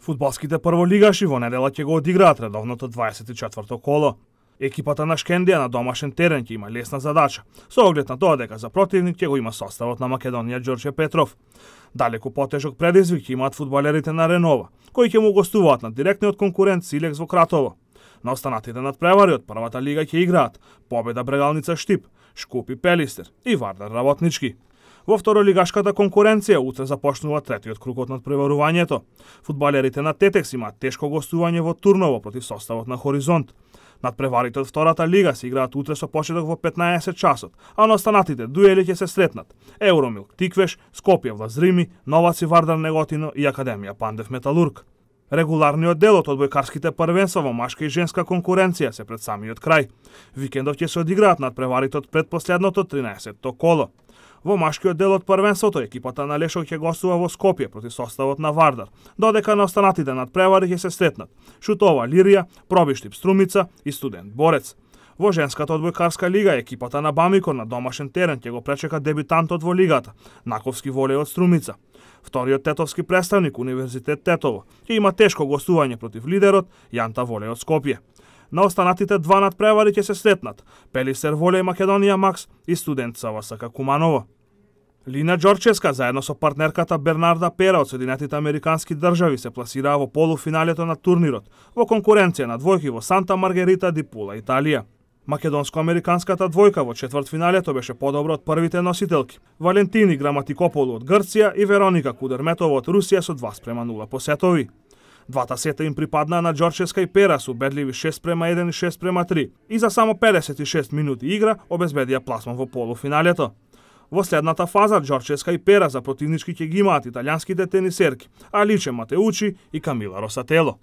Фудбалските прволигаши во недела ќе го одиграат редовното 24-то коло. Екипата на Шкендија на домашен терен ќе има лесна задача, со оглед на тоа дека за противник ќе го има составот на Македонија Ѓорче Петров. Далеку потежок предизвик ќе имаат фудбалерите на Ренова, кои ќе му гостуваат на директниот конкурент Силекс во Кратово. На останатите надпревари од првата лига ќе играат Победа Брегалница Штип, Шкупи Пелистер и Вардар Работнички. Во второлигашката конкуренција утре започнува третиот круг од надпреварувањето. Фудбалерите на Тетекс имаат тешко гостување во Турново против составот на Хоризонт. Надпреварите од втората лига се играат утре со почеток во 15 часот, а на останатите дуели ќе се сретнат Евромилк Тиквеш, Скопје Влазрими, Новаци Вардар Неготино и Академија Пандев Металург. Регуларниот дел од одбојкарските првенства во машка и женска конкуренција се пред самиот крај. Викендов ќе се одиграат надпреварите од предпоследното 13-то коло. Во машкиот дел од првенството екипата на Лешов ќе гостува во Скопје против составот на Вардар, додека на останатите надпревари ќе се сретнат Шутова Лирија, Пробиштип Струмица и Студент Борец. Во женската одбојкарска лига екипата на Бамикор на домашен терен ќе го пречека дебитантот во лигата, Наковски Волеј од Струмица. Вториот тетовски представник Универзитет Тетово ќе има тешко гостување против лидерот Јанта Волеј од Скопје. На останатите два надпревари ќе се сретнат Пелистер Волеј Македонија Макс и Студент СВСК Куманово. Лина Ѓорчевска заедно со партнерката Бернарда Пера од Соединетите Американски држави се пласираа во полуфиналето на турнирот во конкуренција на двојки во Санта Маргарита ди Пула, Италија. Македонско-американската двојка во четвртфиналето беше подобра од првите носителки. Валентини Граматикополу од Грција и Вероника Кудерметова од Русија со 2:0 по сетови. Двата сета им припаднаа на Ѓорчевска и Пера со убедливи 6:1 и 6:3 и за само 56 минути игра обезбедија пласман во полуфиналето. Во следната фаза Ѓорчевска и Пера за противнички ќе ги имаат италијанските тенисерки Аличе Матеучи и Камила Росатело.